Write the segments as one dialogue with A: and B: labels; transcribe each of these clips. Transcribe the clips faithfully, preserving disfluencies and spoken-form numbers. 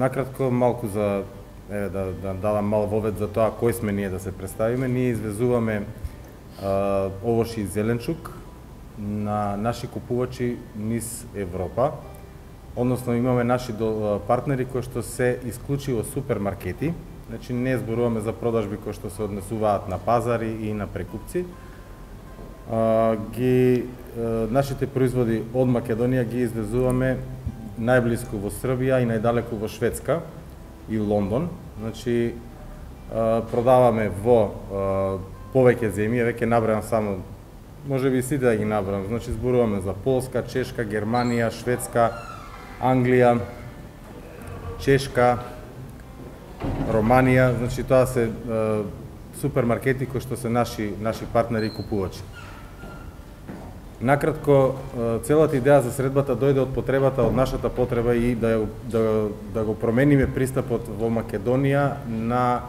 A: накратко малку за еве да да дадам мал вовед за тоа кој сме ние да се представиме. Ние извезуваме а, овоши и зеленчук на наши купувачи низ Европа. Односно имаме наши партнери кои што се исклучиво супермаркети. Значи не зборуваме за продажби кои што се однесуваат на пазари и на прекупци. А, ги а, нашите производи од Македонија ги извезуваме најблиску во Србија и најдалеку во Шведска и Лондон. Значи а, продаваме во а, повеќе земји, веќе набројам само, можеби сите да ги набројам. Значи зборуваме за Полска, Чешка, Германија, Шведска, Англија, Чешка, Романија. Значи тоа се а, супермаркети кои што се наши наши партнери и купувачи. Накратко, целата идеја за средбата дојде од потребата, од нашата потреба и да, да, да го промениме пристапот во Македонија на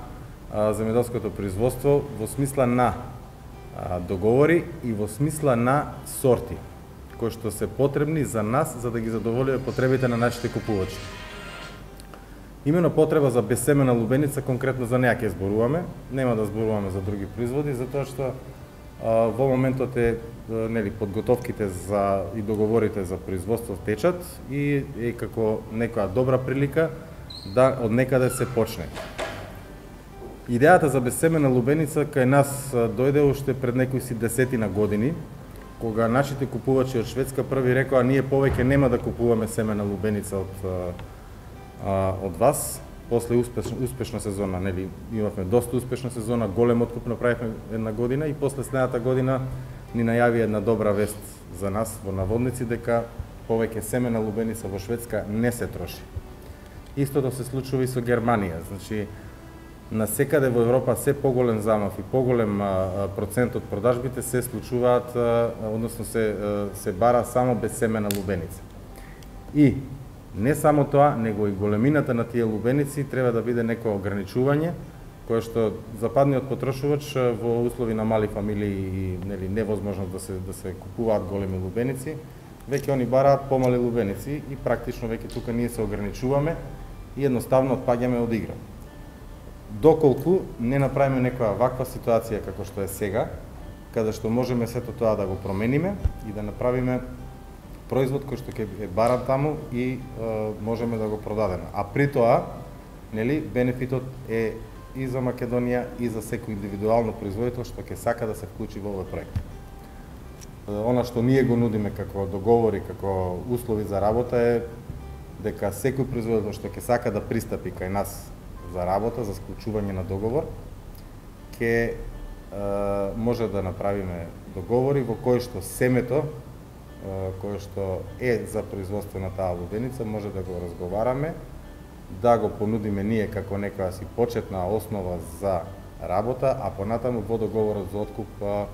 A: а, земјоделското производство во смисла на а, договори и во смисла на сорти, кои што се потребни за нас, за да ги задоволиме потребите на нашите купувачи. Имено потреба за безсемена лубеница, конкретно за неа ќе зборуваме, нема да зборуваме за други производи, затоа што а, во моментот е нели подготовките за и договорите за производство течат и е како некоја добра прилика да од некаде се почне. Идејата за безсемена лубеница кај нас дојде уште пред некои си десетина години, кога нашите купувачи од Шведска први рекоа ние повеќе нема да купуваме семена лубеница од а, од вас. После успешна, успешна сезона, нели имавме доста успешна сезона, голем откуп направивме една година и после следната година ни најави една добра вест за нас во наводници дека повеќе семена лубеница во Шведска не се троши. Истото се случува и со Германија. Значи насекаде во Европа се поголем замав и поголем а, процент од продажбите се случуваат, а, односно се а, се бара само безсемена лубеница. И не само тоа, него и големината на тие лубеници треба да биде некое ограничување кое што западниот потрошувач во услови на мали фамилии и нели невозможност да се да се купуваат големи лубеници, веќе они бараат помали лубеници и практично веќе тука ние се ограничуваме и едноставно отпаѓаме од игра. Доколку не направиме некоја ваква ситуација како што е сега, каде што можеме сето тоа да го промениме и да направиме производ кој што ќе е баран таму и е, можеме да го продадеме. А при тоа, нели, бенефитот е и за Македонија и за секој индивидуално производител што ќе сака да се вклучи во овој проект. Она што ние го нудиме како договори, како услови за работа е дека секој производител што ќе сака да пристапи кај нас за работа, за склучување на договор, ќе е, може да направиме договори во кои што семето е, кое што е за производство на таа лубеница може да го разговараме, да го понудиме ние како некоја си почетна основа за работа, а понатаму во договорот за откуп а,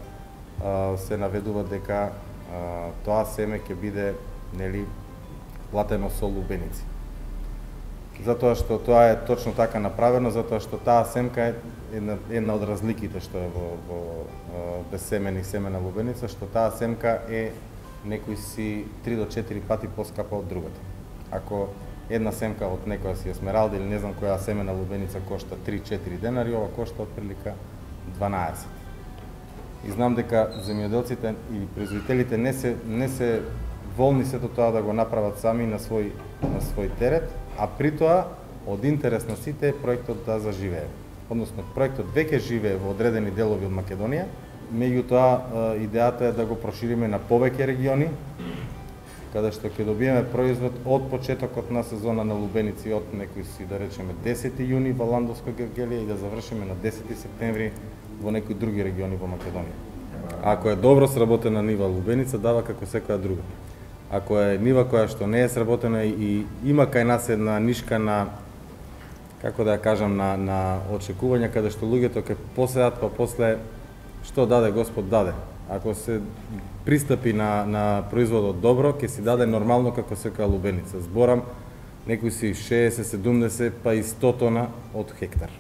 A: а, се наведува дека а, тоа семе ќе биде нели платено со лубеници. Затоа што тоа е точно така направено, затоа што таа семка е една, една од разликите што е во, во безсемени семена лубеница, што таа семка е некои си три до четири пати поскапа од другата. Ако една семка од некоја си есмералда или не знам која семена лубеница кошта три-четири денари, ова кошта отприлика дванаесет. И знам дека земјоделците или производителите не се не се волни сето тоа да го направат сами на свој на свој терет, а при тоа од интерес на сите е проектот да заживее. Односно проектот веќе живее во одредени делови од Македонија, меѓутоа идејата е да го прошириме на повеќе региони, каде што ќе добиеме производ од почетокот на сезона на лубеници од некои си да речеме десети јуни во Ландовска Гергелија и да завршиме на десети септември во некои други региони во Македонија. Ако е добро сработена нива лубеница, дава како секоја друга. Ако е нива која што не е сработена и има кај нас една нишка на, како да ја кажам, на, на очекување, каде што луѓето ќе поседат, па после што даде Господ даде. Ако се пристапи на, на производот добро, ќе си даде нормално како секоја лубеница. Зборам некои си шеесет, седумдесет, па и сто тона од хектар.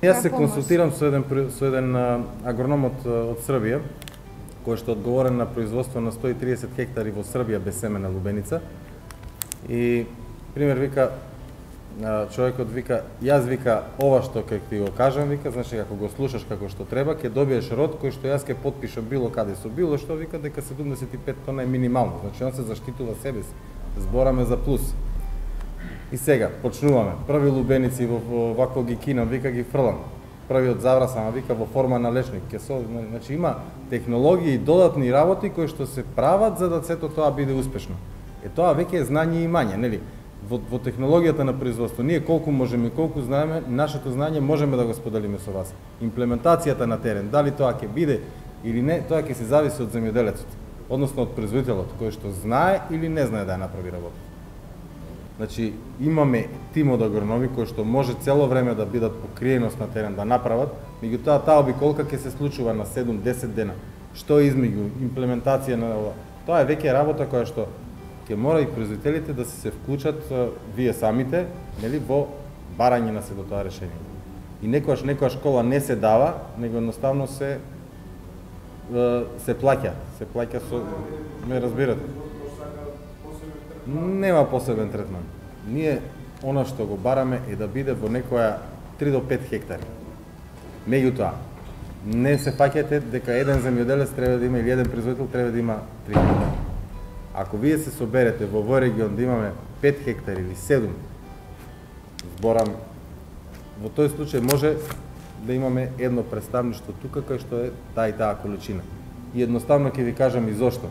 A: Јас се консултирам со еден, со еден агроном од, од Србија, кој што одговорен на производство на сто и триесет хектари во Србија без семена лубеница. И пример вика, човекот вика, јас вика ова што ќе ти го кажам, вика, значи како го слушаш како што треба, ќе добиеш род кој што јас ќе потпишам било каде со било што, вика дека седумдесет и пет тона е минимално, значи он се заштитува себе си. Збораме за плюс. И сега почнуваме. Први лубеници во, во вако ги кинам, вика ги фрлам. Првиот заврасама, вика во форма на лешник, ќе со, значи има технологии и додатни работи кои што се прават за да сето тоа биде успешно. Е тоа веќе е знање и имање, нели? Во, во технологијата на производство, ние колку можеме и колку знаеме, нашето знање можеме да го споделиме со вас. Имплементацијата на терен, дали тоа ќе биде или не, тоа ќе се зависи од земјоделецот, односно од производителот, кој што знае или не знае да ја направи работа. Значи, имаме тим од агрономи кои што може цело време да бидат покриеност на терен да направат, меѓутоа таа обиколка ќе се случува на седум-десет дена. Што измеѓу имплементација на ова? Тоа е веќе работа која што ќе мора и производителите да се вклучат вие самите, нели, во барање на се до тоа решение. И некојаш некоја школа не се дава, него едноставно се се плаќа, се плаќа со, ме разбирате. Нема посебен третман. Ние она што го бараме е да биде во некоја три до пет хектари. Меѓутоа, не се фаќате дека еден земјоделец треба да има или еден производител треба да има три хектари. Ако вие се соберете во овој регион да имаме пет хектари или седум, зборам, во тој случај може да имаме едно представништво тука кај што е таа и таа количина. И едноставно ќе ви кажам и зошто.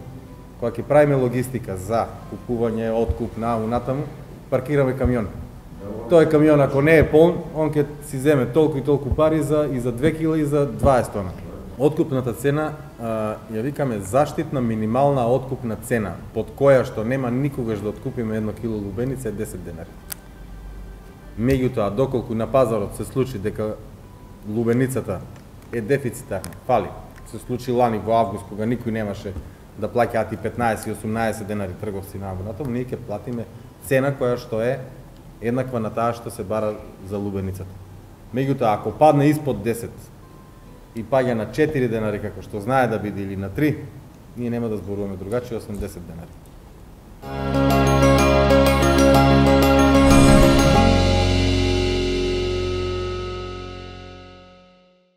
A: Кога ќе правиме логистика за купување, откуп на унатаму, паркираме камион. Тој камион ако не е полн, он ќе си земе толку и толку пари за и за две кила и за дваесет тона. Откупната цена а, ја викаме заштитна минимална откупна цена, под која што нема никогаш да откупиме едно кило лубеница е десет денари. Меѓутоа, доколку на пазарот се случи дека лубеницата е дефицитарна, фали, се случи лани во август кога никој немаше да плаќаат и петнаесет и осумнаесет денари трговци на абонатов, ние ќе платиме цена која што е еднаква на таа што се бара за лубеницата. Меѓутоа, ако падне испод десет и паѓа на четири денари како што знае да биде или на три, ние нема да зборуваме другачи осум до десет денари.